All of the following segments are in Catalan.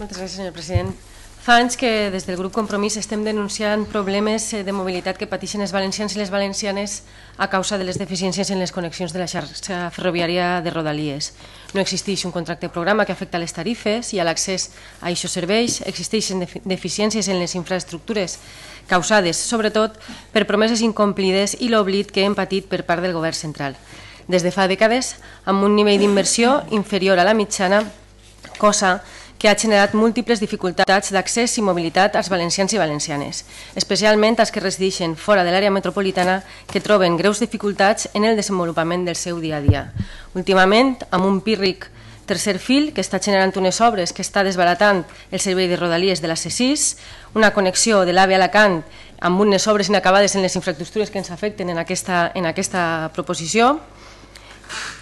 Moltes gràcies, senyor president. Fa anys que des del grup Compromís estem denunciant problemes de mobilitat que pateixen els valencians i les valencianes a causa de les deficiències en les connexions de la xarxa ferroviària de Rodalies. No existeix un contracte programa que afecta les tarifes i a l'accés a aquests serveis, existeixen deficiències en les infraestructures causades, sobretot, per promeses incomplides i l'oblit que hem patit per part del govern central. Des de fa dècades, amb un nivell d'inversió inferior a la mitjana, cosa que ha generat múltiples dificultats d'accés i mobilitat als valencians i valencianes, especialment als que resideixen fora de l'àrea metropolitana que troben greus dificultats en el desenvolupament del seu dia a dia. Últimament, amb un pírric tercer fil que està generant unes obres que està desbaratant el servei de Rodalies de la C6, una connexió de l'AVE a Alacant amb unes obres inacabades en les infraestructures que ens afecten en aquesta proposició,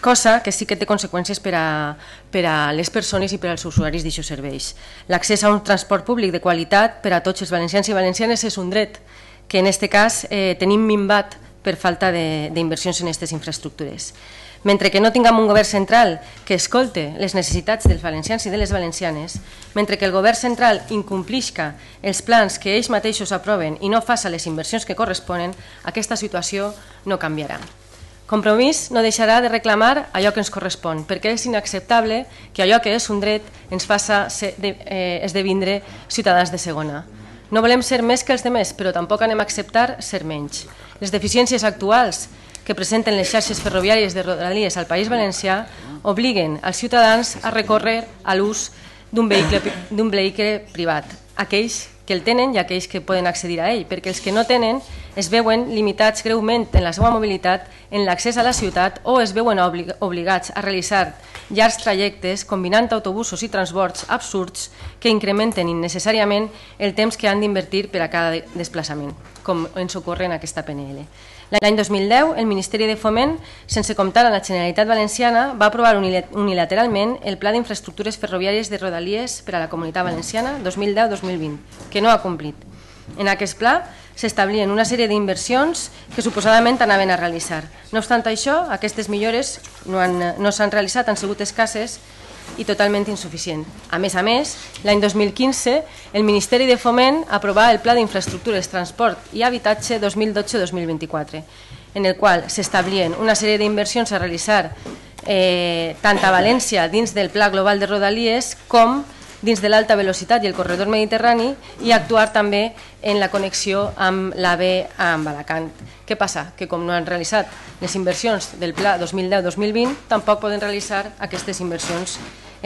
cosa que sí que té conseqüències per a les persones i per als usuaris d'aquests serveis. L'accés a un transport públic de qualitat per a tots els valencians i valencianes és un dret que en aquest cas tenim minvat per falta d'inversions en aquestes infraestructures. Mentre que no tinguem un govern central que escolte les necessitats dels valencians i de les valencianes, mentre que el govern central incomplisca els plans que ells mateixos aproven i no faça les inversions que corresponen, aquesta situació no canviarà. Compromís no deixarà de reclamar allò que ens correspon, perquè és inacceptable que allò que és un dret ens faça esdevindre ciutadans de segona. No volem ser més que els demés, però tampoc anem a acceptar ser menys. Les deficiències actuals que presenten les xarxes ferroviàries de Rodalies al País Valencià obliguen als ciutadans a recórrer a l'ús d'un vehicle privat, aquells que el tenen i aquells que poden accedir a ell, perquè els que no tenen es veuen limitats greument en la seva mobilitat, en l'accés a la ciutat o es veuen obligats a realitzar llargs trajectes combinant autobusos i transports absurds que incrementen innecessàriament el temps que han d'invertir per a cada desplaçament, com ens ocorre en aquesta PNL. L'any 2010, el Ministeri de Foment, sense comptar amb la Generalitat Valenciana, va aprovar unilateralment el Pla d'Infraestructures Ferroviàries de Rodalies per a la Comunitat Valenciana 2010-2020, que no ha complit. En aquest pla s'establien una sèrie d'inversions que suposadament anaven a realitzar. No obstant això, aquestes millores no s'han realitzat, han sigut escasses i totalment insuficient. A més, l'any 2015, el Ministeri de Foment aprovà el Pla d'Infraestructures, Transport i Habitatge 2012-2024, en el qual s'establien una sèrie d'inversions a realitzar tant a València dins del Pla Global de Rodalies com dins de l'alta velocitat i el corredor mediterrani i actuar també en la connexió amb l'AVE amb Alacant. Què passa? Que com no han realitzat les inversions del Pla 2010-2020, tampoc poden realitzar aquestes inversions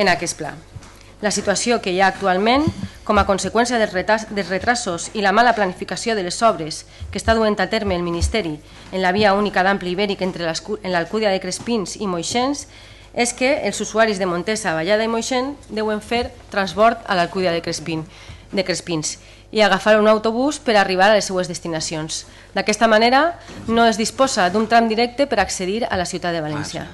en aquest pla. La situació que hi ha actualment, com a conseqüència dels retrasos i la mala planificació de les obres que està duent a terme el Ministeri en la via única d'ample ibèric entre l'Alcúdia de Crespins i Moixens, és que els usuaris de Montesa, Vallada i Moixent deuen fer transport a l'Alcúdia de Crespins i agafar un autobús per arribar a les seues destinacions. D'aquesta manera no es disposa d'un tram directe per accedir a la ciutat de València.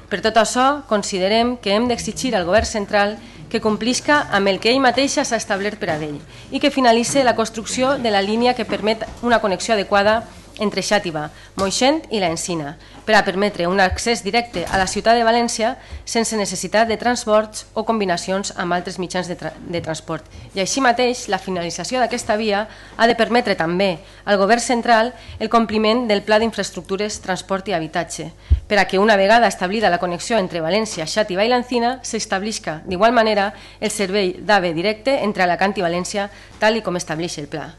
Per tot això, considerem que hem d'exigir al govern central que complisca amb el que ell mateix s'ha establert per a ell i que finalitzi la construcció de la línia que permet una connexió adequada entre Xàtiva, Moixent i l'Encina, per a permetre un accés directe a la ciutat de València sense necessitat de transports o combinacions amb altres mitjans de transport. I així mateix, la finalització d'aquesta via ha de permetre també al govern central el compliment del Pla d'Infraestructures, Transport i Habitatge, per a que una vegada establida la connexió entre València, Xàtiva i l'Encina, s'establisca d'igual manera el servei d'AVE directe entre Alacant i València, tal com estableix el pla.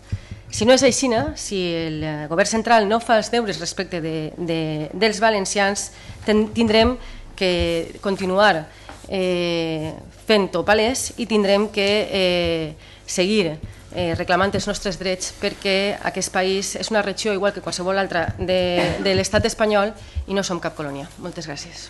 Si no és així, si el govern central no fa els deures respecte dels valencians, tindrem que continuar fent-ho palès i tindrem que seguir reclamant els nostres drets perquè aquest país és una regió igual que qualsevol altra de l'estat espanyol i no som cap colònia. Moltes gràcies.